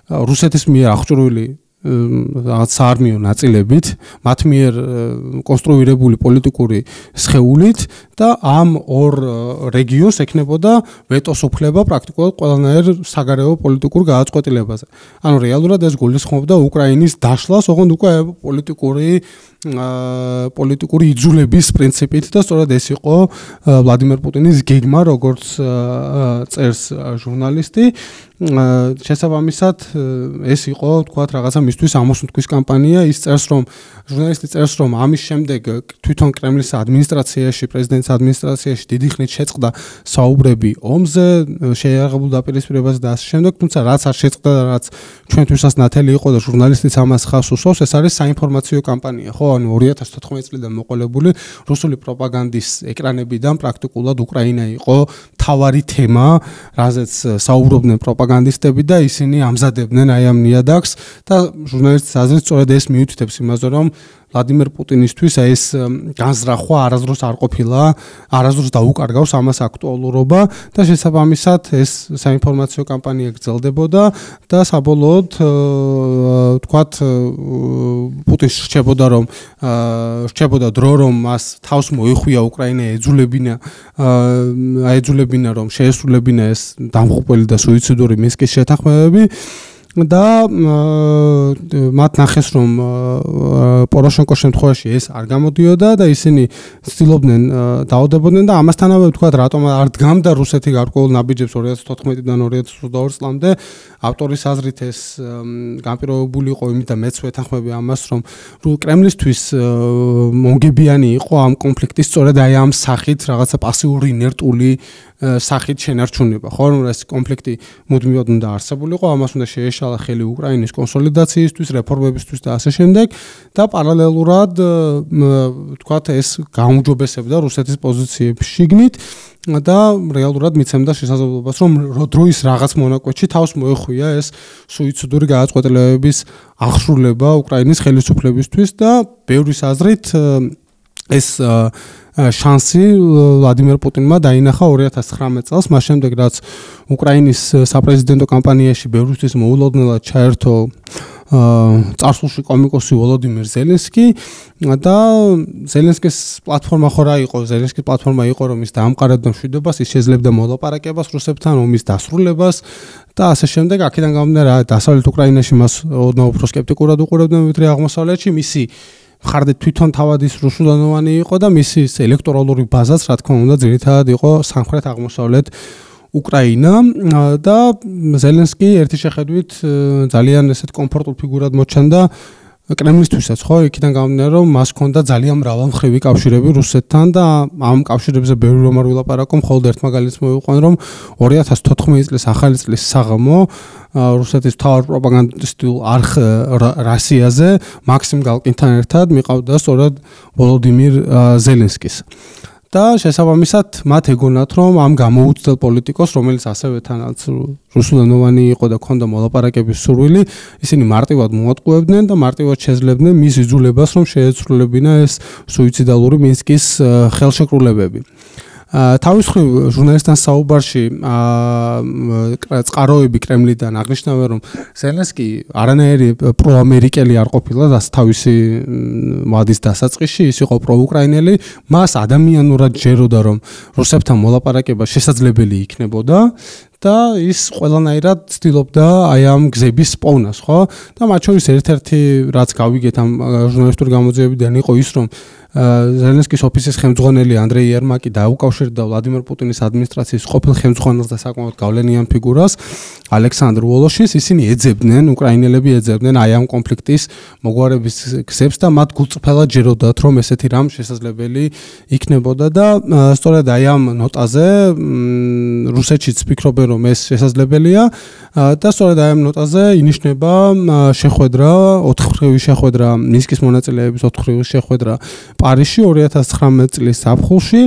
რუსეთის მიერ აღჭურვილი რაღაც საარმიო ნაწილებით, მათ მიერ კონსტრუირებული პოლიტიკური სხეულით და ამ ორ რეგიონს ექნებოდა ვეტოს უფლება პრაქტიკულად ყველანაირ საგარეო პოლიტიკურ გადაწყვეტილებაზე. ანუ რეალურად ეს გულისხმობდა უკრაინის დაშლას, ოღონდ უკვე პოლიტიკური იძულების პრინციპით და სწორედ ეს იყო ვლადიმერ პუტინის გეგმა, როგორც წერს ჟურნალისტი. შესაბამისად ეს იყო თქვათ რაღაცა მისთვის ამოსუნთქვის კამპანია. ის წერს, რომ ჟურნალისტი წერს, რომ ამის შემდეგ თვითონ კრემლის ადმინისტრაციაში, პრეზიდენტის ადმინისტრაციაში დიდი ხნით შეწყდა საუბრები ომზე, შეიარაღებულ დაპირისპირებაზე და ასე შემდეგ, თუმცა რაც არ შეწყდა და რაც ჩვენთვისაც ნათელი იყო და ჟურნალისტიც ამას ხავს უსვავს, ეს არის საინფორმაციო კამპანია, ხო? ანუ 2014 წლიდან მოყოლებული რუსული პროპაგანდის ეკრანებიდან პრაქტიკულად უკრაინა იყო მთავარი თემა, რაზეც საუბრობდნენ პროპაგანდისტები და ისინი ამზადებდნენ აი ამ ნიადაგს და ჟურნალისტის აზრით სწორედ ეს მიუთითებს იმაზე, რომ ვლადიმერ პუტინისთვის ეს განზრახვა არასდროს არ ყოფილა, არასდროს დაუკარგავს ამას აქტუალურობა და შესაბამისად ეს საინფორმაციო კამპანია გრძელდებოდა და საბოლოოდ თქვათ პუტინს რჩებოდა დრო, რომ მას თავს მოიხვია უკრაინა ეძულებინა რომ შეესრულებინა ეს დამღუპველი და სუიციდური მინსკის შეთანხმებები და მათ ნახეს, რომ პოროშენკოს შემთხვევაში ეს არ გამოდიოდა და ისინი ცდილობდნენ დაავდებოდნენ და ამასთანავე თქვათ რატომ არ დგამდა რუსეთი გარკვეულ ნაბიჯებს 2014-დან 2022 წლამდე. ავტორის აზრით ეს განპირობებული იყო იმით და მეც ვეთანხმები ამას, რომ კრემლისთვის მონგებიანი იყო ამ კონფლიქტის სწორედ აი ამ სახით რაღაცა პასიური ინერტული სახით შენარჩუნება, ხო, რომ ეს კონფლიქტი მუდმივად უნდა არსებულიყო, ამას უნდა შეეშალა ხელი უკრაინის კონსოლიდაციისთვის, რეფორმებისთვის და ასე შემდეგ და პარალელურად თქვათ ეს გაუმჯობესებდა რუსეთის პოზიციებს შიგნით და რეალურად მიცემდა შესაძლებლობას, რომ დროის რაღაც მონაკვეთში თავს მოეხვია ეს სუიციდური გადაწყვეტილებების აღსრულება უკრაინის ხელისუფლებისთვის და ბევრის აზრით ეს შანსი ვლადიმერ პუტინმა დაინახა 2019 წელს, მას შემდეგ რაც უკრაინის საპრეზიდენტო კამპანიაში ბევრისთვის მოულოდნელად ჩაერთო წარსულში კომიკოსი ვოლოდიმირ ზელენსკი და ზელენსკის პლატფორმა იყო, რომ ის დაამყარებდა მშვიდობას, ის შეძლებდა მოლაპარაკებას რუსებთან, ომის დასრულებას და ასე შემდეგ. აქედან გამომდინარე, დასავლეთ უკრაინაში მას ოდნავ უფრო სკეპტიკურად უყურებდნენ ვიდრე აღმოსავლეთში. მისი მხარდე თვითონ თავად ის რუსულენოვანი იყო და მისი ელექტორალური ბაზაც, რა თქმა უნდა, ძირითადად იყო სამხრეთ აღმოსავლეთ უკრაინა და ზელენსკი ერთი შეხედვით ძალიან ესეთ კომფორტულ ფიგურად მოჩანდა კრემლისთვისაც, ხო, იქიდან გამომდინარე, რომ მას ჰქონდა ძალიან მრავალმხრივი კავშირები რუსეთთან და ამ კავშირებზე ბევრი რომ არ ვილაპარაკო, მხოლოდ ერთ მაგალითს მოვიყვან, რომ 2014 წლის ახალი წლის საღამო რუსეთის მთავარ პროპაგანდისტულ არხ რასიაზე მაქსიმ გალკინთან ერთად მიყავდა სწორედ ვოლოდიმირ ზელენსკის. და შესაბამისად მათ ეგონათ, რომ ამ გამოუცდელ პოლიტიკოს, რომელიც ასევე თანაც რუსულენოვანი იყო და ჰქონდა მოლაპარაკების სურვილი, ისინი მარტივად მოატყუებდნენ და მარტივად შეძლებდნენ მის იძულებას, რომ შეეცვლილებინა ეს სუიციდალური მინსკის ხელშეკრულებები. თავის მხრივ ჟურნალისტთან საუბარში წყაროები კრემლიდან აღნიშნავენ, რომ ზელენსკი არანაირი პროამერიკელი არ ყოფილა და თავისი ვადის დასაწყისში ის იყო პროუკრაინელი, მას ადამიანურად ჯეროდა, რომ რუსებთან მოლაპარაკება შესაძლებელი იქნებოდა და ის ყველანაირად ცდილობდა აი ამ გზების პოვნას, ხო? და მათ შორის ერთ-ერთი რაც გავიგეთ ამ ჟურნალისტური გამოძიებიდან იყო ის, რომ ზელენსკის ოფისის ხელმძღვანელი ანდრეი ერმაკი დაუკავშირდა ვლადიმერ პუტინის ადმინისტრაციის ყოფილ ხელმძღვანელს და საკმაოდ გავლენიან ფიგურას ალექსანდრ ვოლოშინს. ისინი ეძებდნენ, უკრაინელები ეძებდნენ აი ამ კონფლიქტის მოგვარების გზებს და მათ გულწრფელად ჯეროდათ, რომ ესეთი რამ შესაძლებელი იქნებოდა და სწორედ აი ამ ნოტაზე რუსეთშიც ფიქრობენ, რომ ეს შესაძლებელია და სწორედ აი ამ ნოტაზე ინიშნება შეხვედრა, 4-ხრივი შეხვედრა, მინსკის მონაწილეების 4-ხრივი შეხვედრა პარიზში 2019 წლის ზაფხულში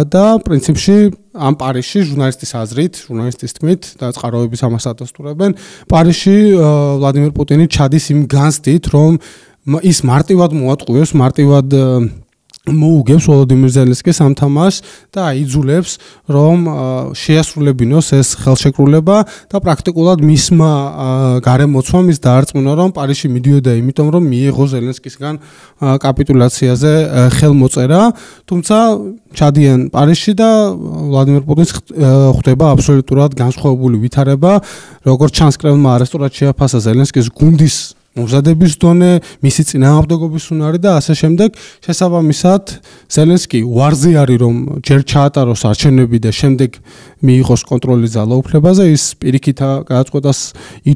და პრინციპში ამ პარიზში ჟურნალისტის აზრით, ჟურნალისტის თქმით და წყაროების ამას ადასტურებენ, პარიზში ვლადიმერ პუტინი ჩადის იმ განცდით, რომ ის მარტივად მოატყუებს, მარტივად მოუგებს ვოლოდიმირ ზელენსკის ამ თამაშს და აიძულებს რომ შეასრულებინოს ეს ხელშეკრულება და პრაქტიკულად მისმა გარემოცვამ ის დაარწმუნა რომ პარიზში მიდიოდა იმიტომ რომ მიიღო ზელენსკისგან კაპიტულაციაზე ხელმოწერა, თუმცა ჩადიან პარიზში და ვლადიმერ პუტინს ხვდება აბსოლუტურად განსხვავებული ვითარება, როგორც ჩანს კრემლმა არასწორად შეაფასა ზელენსკის გუნდის მომზადების დონე, მისი წინააღმდეგობის უნარი და ასე შემდეგ. შესაბამისად, ზელენსკი უარზე არის რომ ჯერ ჩაატაროს არჩევნები და შემდეგ მიიღოს კონტროლი ძალაუფლებაზე, ის პირიქით გადაწყვეტას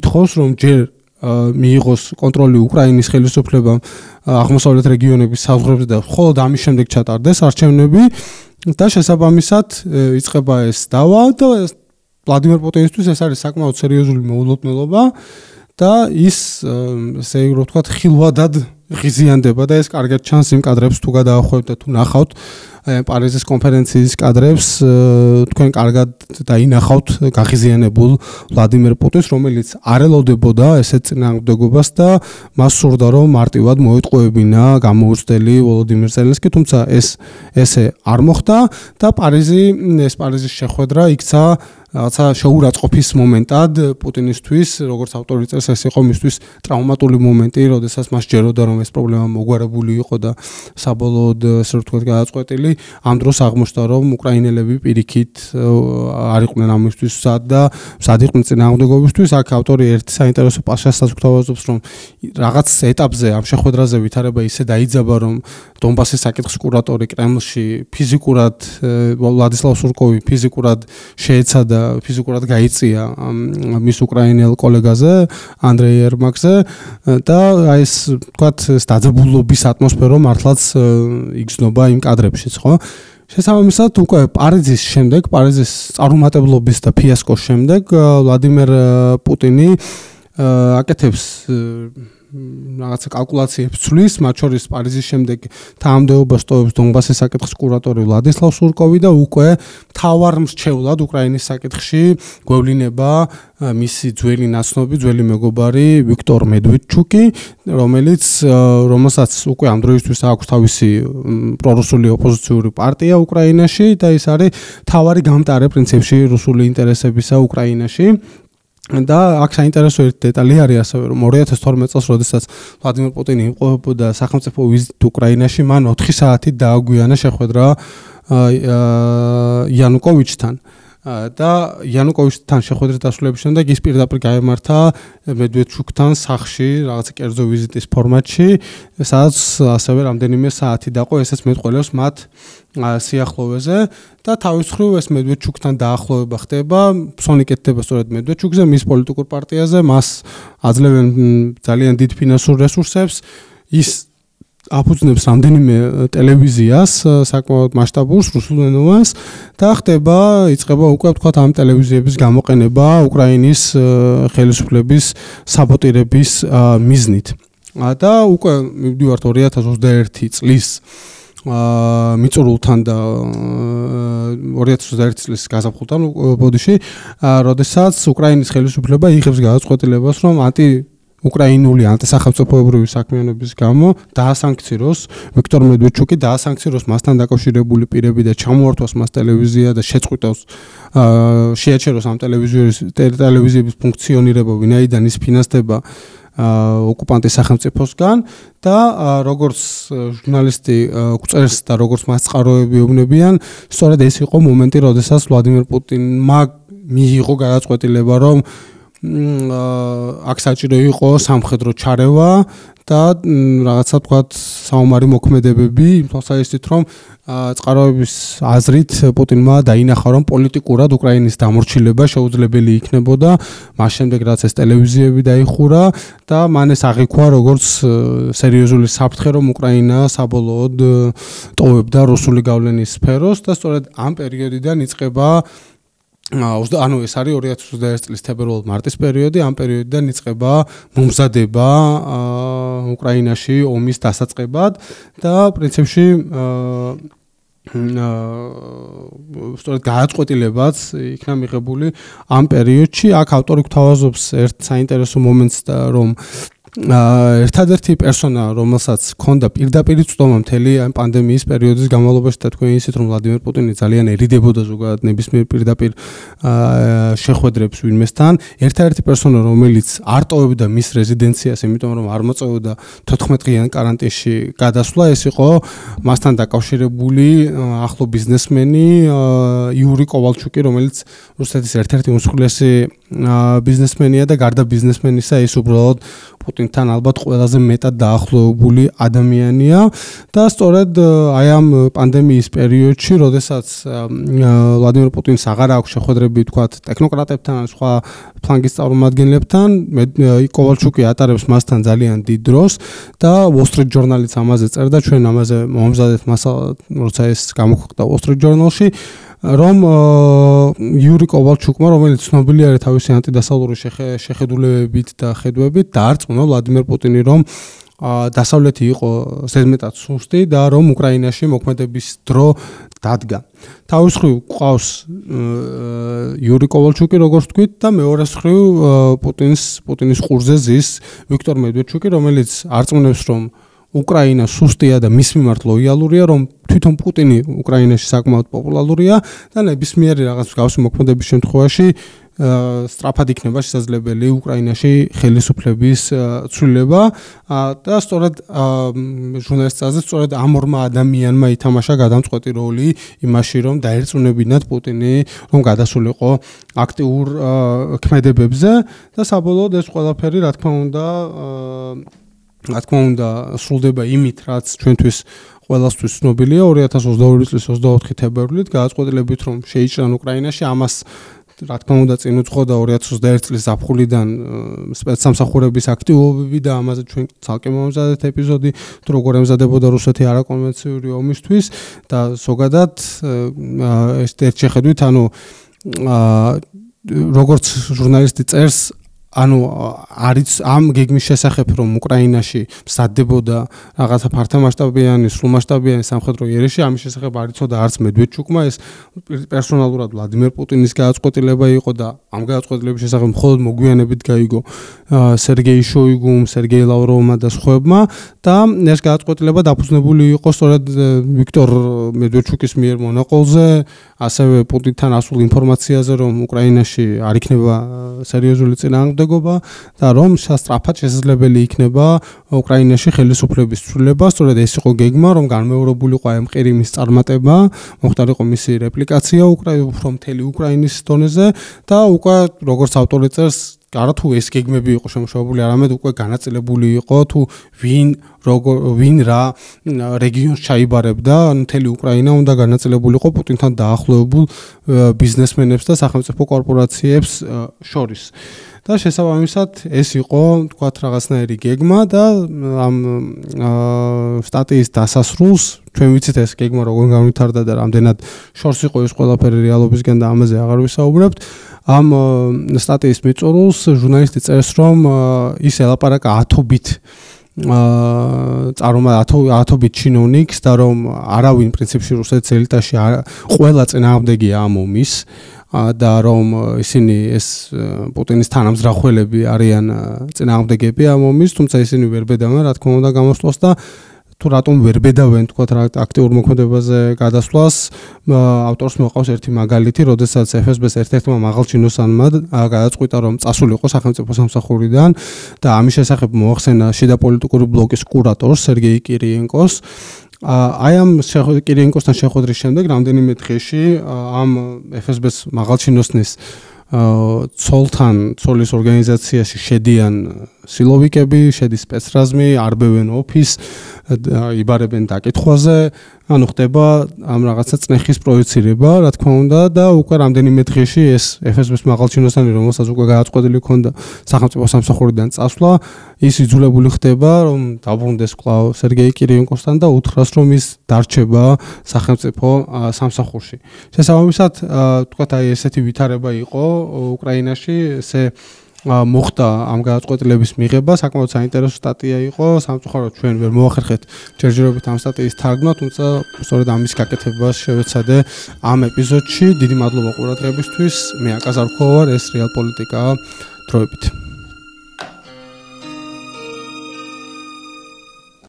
ითხოვს რომ ჯერ მიიღოს კონტროლი უკრაინის ხელისუფლებამ აღმოსავლეთ რეგიონების საზღვრებზე და მხოლოდ ამის შემდეგ ჩატარდეს არჩევნები და შესაბამისად იწყება ეს დავა და ვლადიმერ პუტინისთვის ეს არის საკმაოდ სერიოზული მოულოდნელობა. და ის ესე რომ ვთქვათ ხილვადად ღიზიანდება და ეს კარგად ჩანს იმ კადრებს თუ გადაახვევთ და თუ ნახავთ პარიზის კონფერენციის კადრებს თქვენ კარგად დაინახავთ გაღიზიანებულ ვლადიმერ პუტინს, რომელიც არ ელოდებოდა ესეთ წინააღმდეგობას და მას სურდა რომ მარტივად მოეტყუებინა გამოუცდელი ვოლოდიმირ ზელენსკი, თუმცა ესე არ მოხდა და პარიზის შეხვედრა იქცა რაღაცა შეურაცხყოფის მომენტად პუტინისთვის, როგორც ავტორი წერს, ეს იყო მისთვის ტრავმატული მომენტი, როდესაც მას ჯეროდა რომ ეს პრობლემა მოგვარებული იყო და საბოლოოდ ესე რომ ვთქვათ გადაწყვეტილი. ამ დროს აღმოჩნდა რომ უკრაინელები პირიქით არ იყვნენ ამისთვის მსად იყვნენ წინააღმდეგობისთვის. აქ ავტორი ერთ საინტერესო პასაჟსაც გვთავაზობს, რომ რაღაც ეტაპზე ამ შეხვედრაზე ვითარება ისე დაიძაბა, რომ დონბასის საკითხის კურატორი კრემლში ფიზიკურად ვლადისლავ სურკოვი ფიზიკურად შეეცადა ფიზიკურად გაიწია მის უკრაინელ კოლეგაზე ანდრეი ერმაკზე და აი ეს ვთქვათ დაძაბულობის ატმოსფერო მართლაც იგრძნობა იმ კადრებშიც, ხო? შესაბამისად უკვე პარიზის წარუმატებლობის და ფიასკოს შემდეგ ვლადიმერ პუტინი აკეთებს რაღაცა კალკულაციებს ცვლის, მათ შორის პარიზის შემდეგ თანამდებობას ტოვებს დონბასის საკითხის კურატორი ვლადისლავ სურკოვი და უკვე მთავარ მრჩევლად უკრაინის საკითხში გვევლინება მისი ძველი ნაცნობი, ძველი მეგობარი ვიქტორ მედვედჩუკი, რომელსაც უკვე ამ დროისთვის აქვს თავისი პრორუსული ოპოზიციური პარტია უკრაინაში და ის არის მთავარი გამტარე პრინციპში რუსული ინტერესებისა უკრაინაში. და აქ საინტერესო ერთი დეტალი არის ასევე რომ 2012 წელს როდესაც ვლადიმერ პუტინი იმყოფებოდა სახელმწიფო ვიზიტ უკრაინაში, მან 4 საათით დააგვიანა შეხვედრა იანუკოვიჩთან და იანუკოვიჩთან შეხვედრის დასრულების შემდეგ ის პირდაპირ გაემართა მედვედჩუკთან სახლში რაღაცა კერძო ვიზიტის ფორმატში, სადაც ასევე რამდენიმე საათი დაყო, ესეც მეტყველებს მათ სიახლოვეზე და თავის მხრივ ეს მედვედჩუკთან დაახლოვება ხდება, ფსონი კეთდება სწორედ მედვედჩუკზე, მის პოლიტიკურ პარტიაზე, მას აძლევენ ძალიან დიდ ფინანსურ რესურსებს, ის აფუძნებს რამდენიმე ტელევიზიას, საკმაოდ მასშტაბურს, რუსულენოვანს და იწყება უკვე ვთქვათ ამ ტელევიზიების გამოყენება უკრაინის ხელისუფლების საბოტირების მიზნით. და უკვე მივდივართ 2021 წლის მიწურულთან და 2021 წლის გაზაფხულთან ბოდიში, როდესაც უკრაინის ხელისუფლება იღებს გადაწყვეტილებას, რომ უკრაინული ანტისახელმწიფოებრივი საქმიანობის გამო დაასანქციროს ვიქტორ მედვედჩუკი, დაასანქციროს მასთან დაკავშირებული პირები და ჩამოართვას მას ტელევიზია და შეწყვიტოს შეაჩეროს ამ ტელევიზიების ფუნქციონირება, ვინაიდან ის ფინანსდება ოკუპანტის სახელმწიფოსგან და როგორც ჟურნალისტი გვწერს და როგორც მას წყაროები ეუბნებიან, სწორედ ეს იყო მომენტი, როდესაც ვლადიმერ პუტინმა მიიღო გადაწყვეტილება, რომ აქ საჭირო იყო სამხედრო ჩარევა და რაღაცა თქვათ საომარი მოქმედებები, თვალსაჩინოდ რომ წყაროების აზრით პუტინმა დაინახა, რომ პოლიტიკურად უკრაინის დამორჩილება შეუძლებელი იქნებოდა, მას შემდეგ რაც ეს ტელევიზიები დაიხურა და მან ეს აღიქვა როგორც სერიოზული საფრთხე, რომ უკრაინა საბოლოოდ ტოვებდა რუსული გავლენის სფეროს და სწორედ ამ პერიოდიდან იწყება ეს არის 2021 წლის თებერვალ-მარტის პერიოდი, ამ პერიოდიდან იწყება მომზადება უკრაინაში ომის დასაწყებად და პრინციპში სწორედ გადაწყვეტილებაც იქნა მიღებული ამ პერიოდში. აქ ავტორი გვთავაზობს ერთ საინტერესო მომენტს, რომ ერთადერთი პერსონა, რომელსაც ჰქონდა პირდაპირ წვდომა მთელი ამ პანდემიის პერიოდის განმავლობაში და თქვენ ისეთ რომ ვლადიმერ პუტინი ძალიან ერიდებოდა ზოგადად ნებისმიერ პირდაპირ შეხვედრებს ვინმესთან, ერთადერთი პერსონა, რომელიც არ ტოვებდა მის რეზიდენციას, იმიტომ რომ არ მოწევდა 14-დღიან კარანტინში გადასვლა, ეს იყო მასთან დაკავშირებული ახლო ბიზნესმენი იური კოვალჩუკი, რომელიც რუსეთის ერთ-ერთი უმსხვილესი ბიზნესმენია და გარდა ბიზნესმენისა ის უბრალოდ პუტინთან ალბათ ყველაზე მეტად დაახლოებული ადამიანია და სწორედ აი ამ პანდემიის პერიოდში, როდესაც ვლადიმერ პუტინს აღარ აქვს შეხვედრები თქვათ ტექნოკრატებთან ან სხვა ფლანგის წარმომადგენლებთან, კოვალჩუკი ატარებს მასთან ძალიან დიდ დროს და Wall Street Journal-იც ამაზე წერდა, ჩვენ ამაზე მომზადეთ მასალა, როცა ეს გამოქვეყნდა Wall Street Journal-ში, რომ იური კოვალჩუკმა, რომელიც ცნობილი არის თავისი ანტიდასავლური შეხედულებებით და ხედვებით, დაარწმუნა ვლადიმერ პუტინი, რომ დასავლეთი იყო ზედმეტად სუსტი და რომ უკრაინაში მოქმედების დრო დადგა. თავის მხრივ ყავს იური კოვალჩუკი, როგორც თქვით, და მეორე მხრივ პუტინის ყურზე ზის ვიქტორ მედვედჩუკი, რომელიც არწმუნებს, რომ უკრაინა სუსტია და მის მიმართ ლოიალურია, რომ თვითონ პუტინი უკრაინაში საკმაოდ პოპულარულია და ნებისმიერი რაღაც მსგავსი მოქმედების შემთხვევაში სწრაფად იქნება შესაძლებელი უკრაინაში ხელისუფლების ცვლილება და სწორედ ჟურნალისტს აზრით, სწორედ ამ ორმა ადამიანმა ითამაშა გადამწყვეტი როლი იმაში, რომ დაერწმუნებინათ პუტინი, რომ გადასულიყო აქტიურ ქმედებებზე და საბოლოოდ ეს ყველაფერი, რა თქმა უნდა, სრულდება იმით, რაც ჩვენთვის ყველასთვის ცნობილია 2022 წლის 24 თებერვლით, გადაწყვეტილებით, რომ შეიჭრან უკრაინაში, ამას რა თქმა უნდა წინ უძღოდა 2021 წლის ზაფხულიდან სპეცსამსახურების აქტივობები და ამაზე ჩვენ ცალკე მომზადეთ ეპიზოდი, თუ როგორ ემზადებოდა რუსეთი არაკონვენციური ომისთვის და ზოგადად ეს ერთ შეხედვით, ანუ როგორც ჟურნალისტი წერს, ანუ არის ამ გეგმის შესახებ, რომ უკრაინაში მსადდებოდა რაღაცა ფართომასშტაბიანი, სრულმასშტაბიანი სამხედრო იერიში, ამის შესახებ არ იცოდა არც მედვედჩუკმა, ეს პერსონალურად ვლადიმერ პუტინის გადაწყვეტილება იყო და ამ გადაწყვეტილების შესახებ მხოლოდ მოგვიანებით გაიგო სერგეი შოიგუმ, სერგეი ლავროვმა და სხვაებმა და ეს გადაწყვეტილება დაფუძნებული იყო სწორედ ვიქტორ მედვედჩუკის მიერ მონაყოლზე, ასევე პუტინთან ასულ ინფორმაციაზე, რომ უკრაინაში არ იქნება სერიოზული წინააღმდეგობა და რომ სწრაფად შესაძლებელი იქნება უკრაინაში ხელისუფლების ცვლილება, სწორედ ეს იყო გეგმა, რომ განმეორებულიყო ამ ყირიმის წარმატება, მოხდარიყო მისი რეპლიკაცია უფრო მთელი უკრაინის დონეზე და უკვე როგორც ავტორი წერს, არა თუ ეს გეგმები იყო შემუშავებული, არამედ უკვე განაწილებული იყო თუ ვინ რა რეგიონს ჩაიბარებდა, მთელი უკრაინა უნდა განაწილებულიყო პუტინთან დაახლოებულ ბიზნესმენებს და სახელმწიფო კორპორაციებს შორის. და შესაბამისად ეს იყო თქვათ რაღაცნაირი გეგმა და ამ სტატიის დასასრულს ჩვენ ვიცით ეს გეგმა როგორ განვითარდა და რამდენად შორს იყო ეს ყველაფერი რეალობისგან და ამაზე აღარ ვისაუბრებთ. ამ სტატიის მიწურულს ჟურნალისტი წერს, რომ ის ელაპარაკა 10-ობით ათობით ჩინოვნიკს და რომ არავინ პრინციპში რუსეთის ელიტაში ყველა წინააღმდეგია ამ ომის და რომ ისინი ეს პუტინის თანამზრახველები არიან წინააღმდეგები ამ ომის, თუმცა ისინი ვერ ბედავენ, რა თქმა უნდა, გამოსვლას და თუ რატომ ვერ ბედავენ თქვათ აქტიურ მოქმედებაზე გადასვლას, ავტორს მოყავს ერთი მაგალითი, როდესაც FSB-ს ერთ-ერთმა მაღალჩინოსანმა გადაწყვიტა, რომ წასულიყო სახელმწიფო სამსახურიდან და ამის შესახებ მოახსენა შიდა პოლიტიკური ბლოკის კურატორს სერგეი კირიენკოს. აი ამ კირიენკოსთან შეხვედრის შემდეგ რამდენიმე დღეში ამ FSB-ს მაღალჩინოსნის ცოლის ორგანიზაციაში შედიან სილოვიკები, შედის სპეცრაზმი, არბევენ ოფის, იბარებენ დაკითხვაზე, ანუ ხდება ამ რაღაცა წნეხის პროექცირება, რა თქმა უნდა და უკვე რამდენიმე დღეში ეს FSB-ს მაღალჩინოსანი, რომელსაც უკვე გადაწყვეტილი ჰქონდა სახელმწიფო სამსახურიდან წასვლა, ის იძულებული ხდება, რომ დაბრუნდეს კვლავ სერგეი კირიენკოსთან და უთხრას, რომ ის დარჩება სახელმწიფო სამსახურში. შესაბამისად, თქვათ აი ესეთი ვითარება იყო უკრაინაში, ესე მოხდა ამ გადაწყვეტილების მიღება, საკმაოდ საინტერესო სტატია იყო, სამწუხაროდ ჩვენ ვერ მოახერხეთ ჯერჯერობით ამ სტატიის თარგმნა, თუმცა სწორედ ამის გაკეთებას შევეცადე ამ ეპიზოდში. დიდი მადლობა ყურადღებისთვის. მე აკაზარ ვარ, ეს რეალ პოლიტიკაა დროებით.